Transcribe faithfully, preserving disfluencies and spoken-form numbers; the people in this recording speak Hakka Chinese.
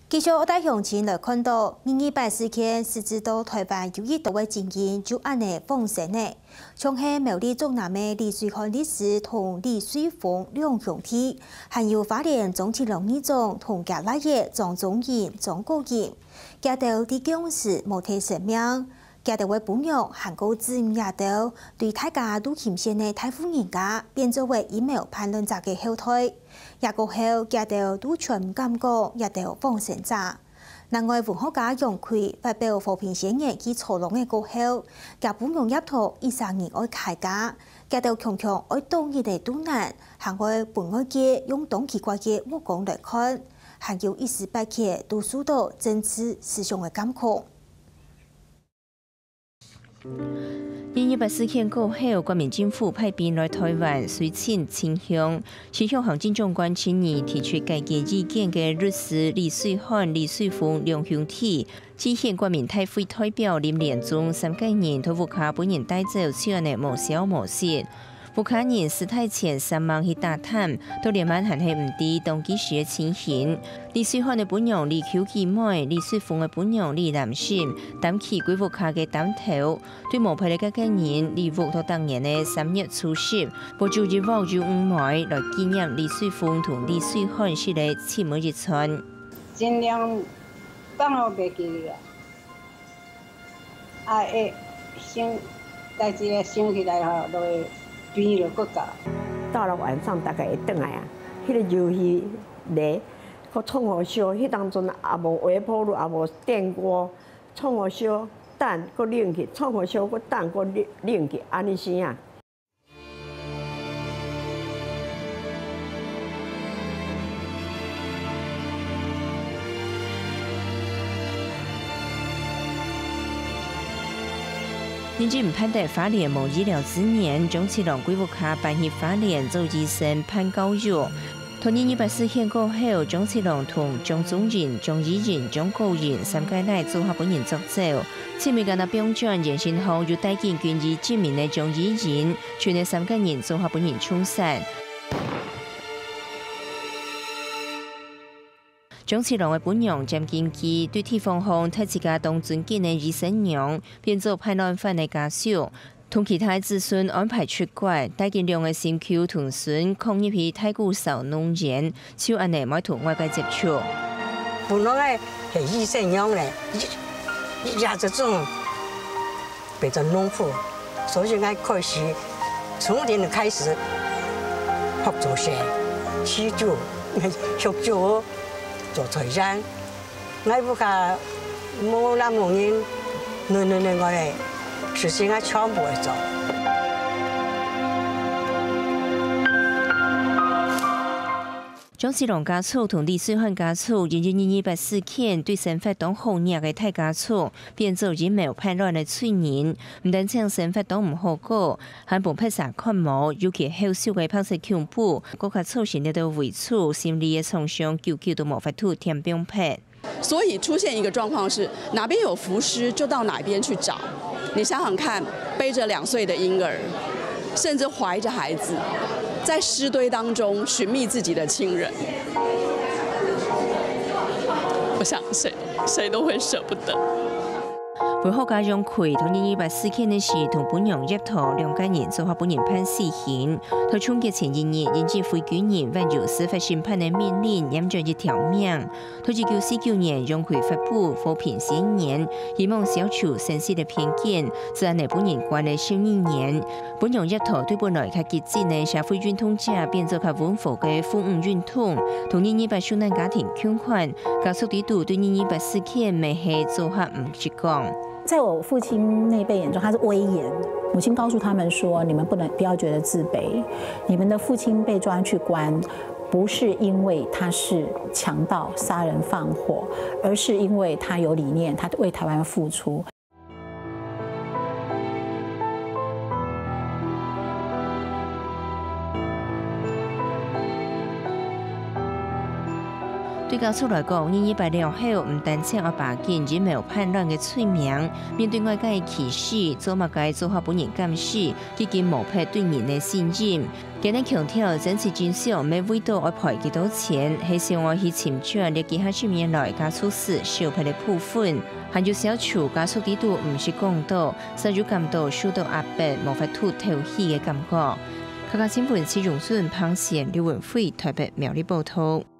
繼續愛帶鄉親來看到，二二八事件，實際到臺灣有已多个情形就恁呢發生了。像係苗栗竹南个李水漢律師同李瑞峰兩兄弟，還有花蓮張七郎議長同厥倈仔張宗仁、張國仁，佢兜在共時無忒性命。 佢兜个餔娘還過指認佢兜對大家都輕信个大戶人家，變做為陰謀叛亂者个後代。這過後，佢兜都全毋敢講佢兜往生者。另外，文學家楊逵發表和平宣言去坐牢个過後，厥餔娘葉桃一儕人愛開家，佢兜強強愛多日个肚難，還愛分外界用當奇怪个目光來看，還有一時半刻都受到政治思想个監控。 二二八事件過後，國民政府派兵來臺灣，隨尋真凶。時任行政長官陳儀提出解決意見个律師李水漢、李瑞峰兩兄弟，致函國民大會代表林連宗三個人，在屋下分人帶走，就恁呢無消無息。 屋下人死忒前煞猛去打探，到這滿還係毋知當其時个情形。李瑞漢个餔娘李邱姊妹、李瑞峰个餔娘李蘭心擔起歸屋下个擔頭，對無陪个該個人，禮物到逐年个三月初十，買煮一鑊肉圓糜來紀念李瑞峰同李瑞漢食个盡尾一餐。盡量放好袂記得啊。 啊，會想，代誌會想起來吼，就會變落骨頭。到了晚上大概會轉來啊，彼个遊戲咧，閣創好燒，彼當陣也無微波爐，也無電鍋，創好燒，等，閣冷去，創好燒，閣等，閣冷，冷去，按呢生啊。 認真盼得花蓮無醫療資源，張七郎歸屋下搬去花蓮做醫生、辦教育。 到二二八事件過後，張七郎同張宗仁、張怡仁、張國仁三個倈做下分人捉走。盡尾干焦放轉現身後又戴緊軍醫證明个張怡仁，剩个三個人做下分人槍殺。張七郎个餔娘詹金枝對地方上忒自家當尊敬个醫生娘，變做叛亂犯个家屬。 同其他子孫安排出國，帶緊兩個心臼同孫囥入去大谷燒農園，就恁呢無同外界接觸。本來係醫生娘咧，一，一下子種，變成農夫，所以𠊎開始從零開始學做事，起厝、畜豬、做菜園。 𠊎屋下無男無人，囡囡个事情𠊎全部會做。張七郎家族同李瑞漢家族因為二二八事件對生活當好額个大家族，變做陰謀叛亂个罪人，毋單淨生活當毋好過，還分別儕看無，尤其後續个白色恐怖，更加造成這兜遺族心理个創傷，久久都無法度填補忒。 所以出現一個狀況是，哪邊有浮屍就到哪邊去找。你想想看，背著兩歲的嬰兒，甚至懷著孩子，在屍堆當中尋覓自己的親人，我想誰誰都會捨不得。文學家楊逵在二二八事件个時，同餔娘葉桃兩個人做下分人判死刑。在銃擊前一日，因為非軍人，還有司法審判个命令，染著一條命。 在一九四九年，楊逵發布和平宣言，希望消除生死个偏見，就恁呢分人關了十二年。餔娘葉桃對本來較激進个社會運動者變做較溫和个婦女運動，同二二八受難家庭共款，家屬裡肚對二二八事件乜係做下毋識講。 在我父親那輩眼中，他是威嚴。母親告訴他們說：「你們不能，不要覺得自卑。你們的父親被抓去關，不是因為他是強盜、殺人放火，而是因為他有理念，他為台灣付出。」對家屬來講，二二八了後，毋單淨愛爬緊疫苗判斷个罪名，面對外界个歧視，做麼个做法分人監視，已經磨忒對人个信任。佢等強調，真實真相毋係為著愛賠幾多錢，係想愛去尋轉這幾下十年來家屬史少忒个部分，還有消除家屬制度毋識講到，煞又感到受到壓迫、無法度敨氣个感覺。客家新聞施榮順、彭賢、劉文輝台北苗栗報導。